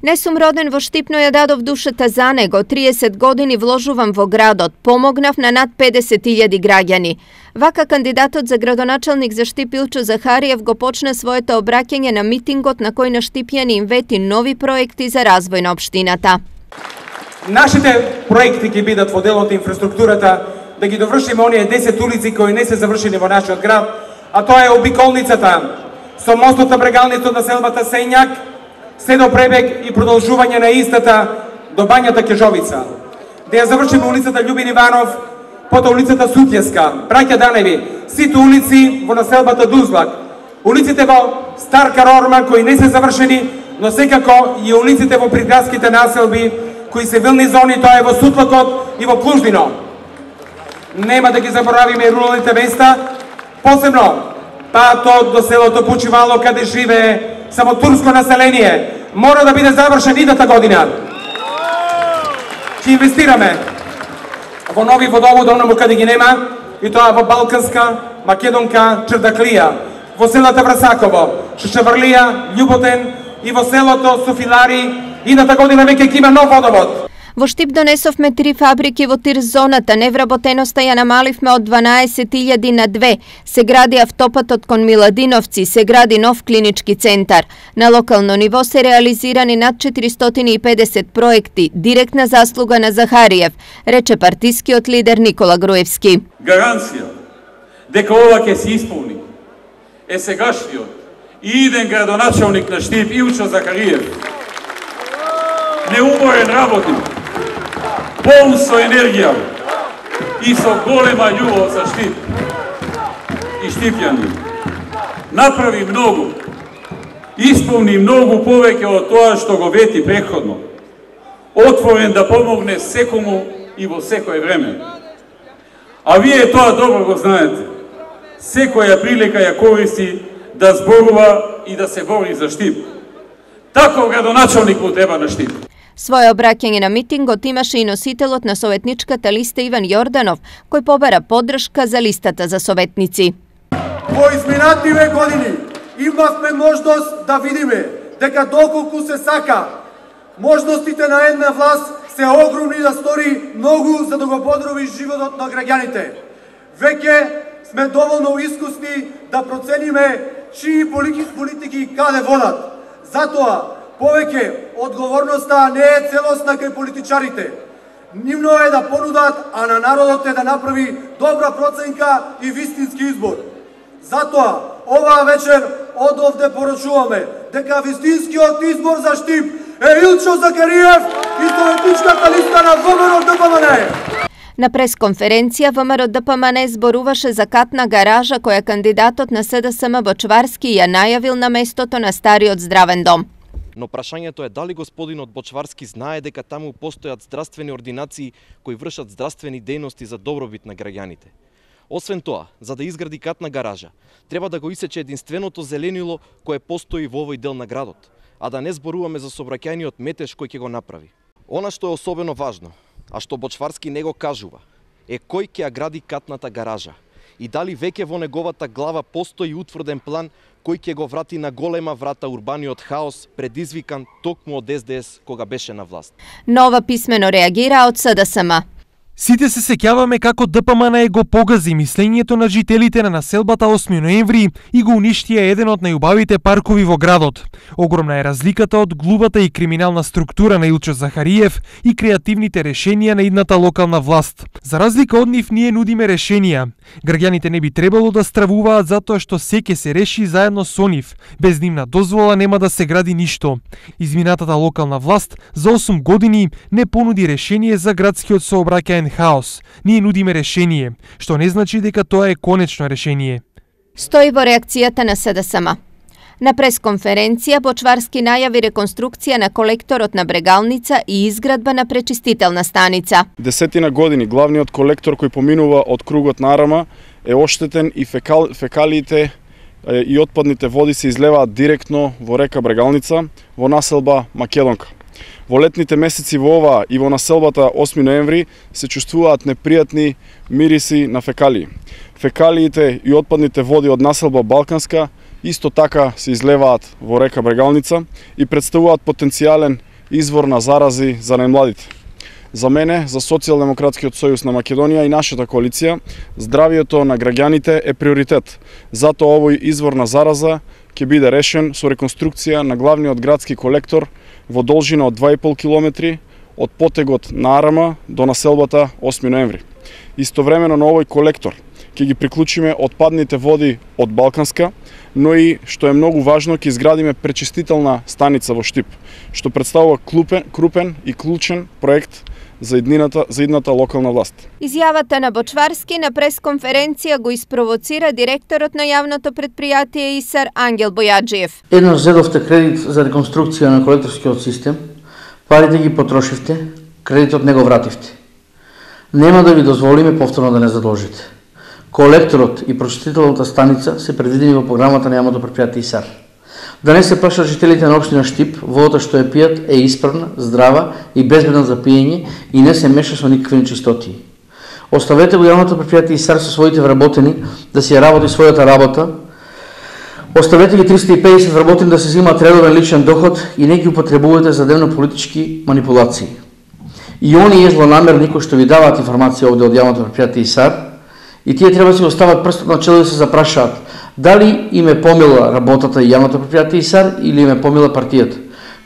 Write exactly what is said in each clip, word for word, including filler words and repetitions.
Не сум роден во Штип, но ја дадов душата за него. триесет години вложувам во градот. Помогнав на над педесет илјади граѓани. Вака кандидатот за градоначалник за Штип Илчо Захариев го почна своето обраќање на митингот на кој на штипјани им вети нови проекти за развој на општината. Нашите проекти ќе бидат во делот инфраструктурата, да ги довршиме оние десет улици кои не се завршени во нашиот град, а тоа е обиколницата со мостот на Брегалница од населбата Сењак, се до Пребег и продолжување на истата до бањата Кежовица. Да ја завршиме улицата Љубин Иванов, потоа улицата Сутјеска, браќа Даневи, сите улици во населбата Дузлак, улиците во Стар Карорма кои не се завршени, но секако и улиците во приградските населби кои се вилни зони, тоа е во Сутлакот и во Плуждино. Нема да ги заборавиме руралните места, посебно патот до селото Пучивало каде живее само турско население, мора да биде завршен идната година. Ќе инвестираме во нови водоводи онаму каде ги нема, и тоа во Балканска, Македонка, Чрдаклија, во селата Врасаково, Шишеврлија, Љуботен и во селото Софилари. Идната година веќе ќе има нов водовод. Во Штип донесовме три фабрики во тир зоната, невработеноста ја намаливме од дванаесет илјади на две. Се гради автопатот кон Миладиновци, се гради нов клинички центар. На локално ниво се реализирани над четиристотини и педесет проекти, директна заслуга на Захариев, рече партискиот лидер Никола Груевски. Гаранција дека ова ќе се исполни е сегашниот и иден градоначалник на Штип Илчо Захариев. Неуморен работник, полн со енергија и со голема љубов за Штип и штипјани. Направи многу, исполни многу повеќе од тоа што го вети претходно. Отворен да помогне секому и во секое време. А вие тоа добро го знаете. Секоја прилика ја користи да зборува и да се бори за Штип. Таков градоначалник му треба на Штип. Своје обраќање на митингот имаше и носителот на советничката листа Иван Јорданов, кој побара поддршка за листата за советници. Во изминативе години имавме можност да видиме дека доколку се сака, можностите на една власт се огромни да стори многу за да го подроби животот на граѓаните. Веќе сме доволно искусни да процениме чии политики каде водат. Затоа повеќе одговорноста не е целосна кај политичарите. Нивно е да понудат, а на народот е да направи добра проценка и вистински избор. Затоа, оваа вечер од овде порачуваме дека вистинскиот избор за Штип е Илчо Захариев и советничката листа на ВМРО-ДПМН. На пресконференција ВМРО-ДПМН зборуваше за катна гаража која кандидатот на СДСМ Бочварски ја најавил на местото на стариот здравен дом. Но прашањето е дали господинот Бочварски знае дека таму постојат здравствени ординации кои вршат здравствени дејности за добробит на граѓаните. Освен тоа, за да изгради катна гаража, треба да го исече единственото зеленило кое постои во овој дел на градот, а да не зборуваме за сообраќајниот метеж кој ќе го направи. Она што е особено важно, а што Бочварски не го кажува, е кој ќе ја гради катната гаража и дали веќе во неговата глава постои утврден план кој ќе го врати на голема врата урбаниот хаос предизвикан токму од Ес Де Ес кога беше на власт. Нова писмено реагира од СДСМ. Сите се сеќаваме како ДПМН го погази мислењето на жителите на населбата осми ноември и го уништија еден од најубавите паркови во градот. Огромна е разликата од глубата и криминална структура на Илчо Захариев и креативните решенија на идната локална власт. За разлика од нив, ние нудиме решенија. Граѓаните не би требало да стравуваат затоа што се ќе се реши заедно со нив. Без нивна дозвола нема да се гради ништо. Изминатата локална власт за осум години не понуди решение за градскиот сообраќаен хаос. Ние нудиме решение, што не значи дека тоа е конечно решение. Стои во реакцијата на СДСМ. На пресконференција Бочварски најави реконструкција на колекторот на Брегалница и изградба на пречистителна станица. Десетина години главниот колектор кој поминува од кругот на Арама е оштетен и фекал, фекалиите и отпадните води се излеваат директно во река Брегалница во населба Македонка. Во летните месеци во ова и во населбата осми ноември се чувствуваат непријатни мириси на фекалии. Фекалиите и отпадните води од населба Балканска исто така се излеваат во река Брегалница и представуваат потенцијален извор на зарази за најмладите. За мене, за Социјалдемократскиот сојуз на Македонија и нашата коалиција, здравието на граѓаните е приоритет. Затоа овој извор на зараза ќе биде решен со реконструкција на главниот градски колектор во должина од два и пол километри од потегот на Арама до населбата осми ноември. Истовремено на овој колектор ќе ги приклучиме отпадните води од Балканска, но и, што е многу важно, ќе изградиме пречистителна станица во Штип, што представува клупен, крупен и клучен проект за иднината, за идната локална власт. Изјавата на Бочварски на пресконференција го испровоцира директорот на јавното предпријатие ИСАР Ангел Бојаджиев. Еднаш зедовте кредит за реконструкција на колекторскиот систем, парите ги потрошивте, кредитот не го вративте. Нема да ви дозволиме повторно да не задолжите. Колекторот и прочистителната станица се предвидени во програмата на јавното предпријатие ИСАР. Да не се плашат жителите на општина Штип, водата што ја пијат е исправна, здрава и безбедна за пиење и не се меша со никакви нечистоти. Оставете го јавното предпријатие ИСАР со своите вработени да си ја работи својата работа. Оставете ги триста и педесет вработени да се земаат редовен личен доход и не ги употребувате за дневно-политички манипулации. И оние злонамерни кои што ви даваат информација овде од јавното предпријатие ИСАР, и тие треба да си остават прстот на чело да се запрашаат дали им е помила работата и јавното предпријатие ИСАР или им е помила партијата.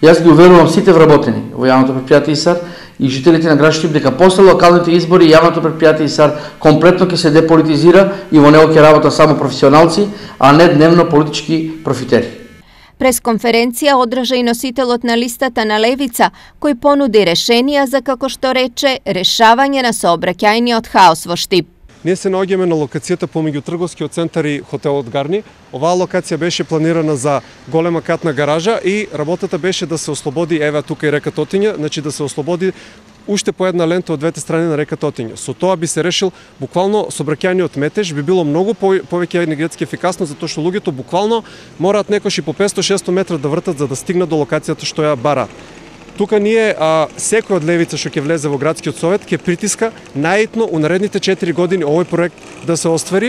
Јас ги уверувам сите вработени во јавното предпријатие ИСАР и жителите на град Штип дека после локалните избори јавното предпријатие ИСАР комплетно ќе се деполитизира и во него ќе работат само професионалци, а не дневно политички профитери. Пресконференција одржа и носителот на листата на Левица, кој понуди решенија за, како што рече, решавање на сообраќајниот хаос во Штип. Ние се наоѓаме на локацијата помеѓу трговскиот центар и хотелот Гарни. Оваа локација беше планирана за голема катна гаража и работата беше да се ослободи, еве тука и река Тотиња, значи да се ослободи уште по една лента од двете страни на река Тотиња. Со тоа би се решил буквално сообраќајниот метеж, би било многу повеќе енергетски ефикасно, затоа што луѓето буквално мораат некош и по петсто шестсто метра да вртат за да стигнат до локацијата што ја бараат. Тука ние, а, секој од Левица што ќе влезе во градскиот совет, ќе притиска најитно у наредните четири години овој проект да се оствари.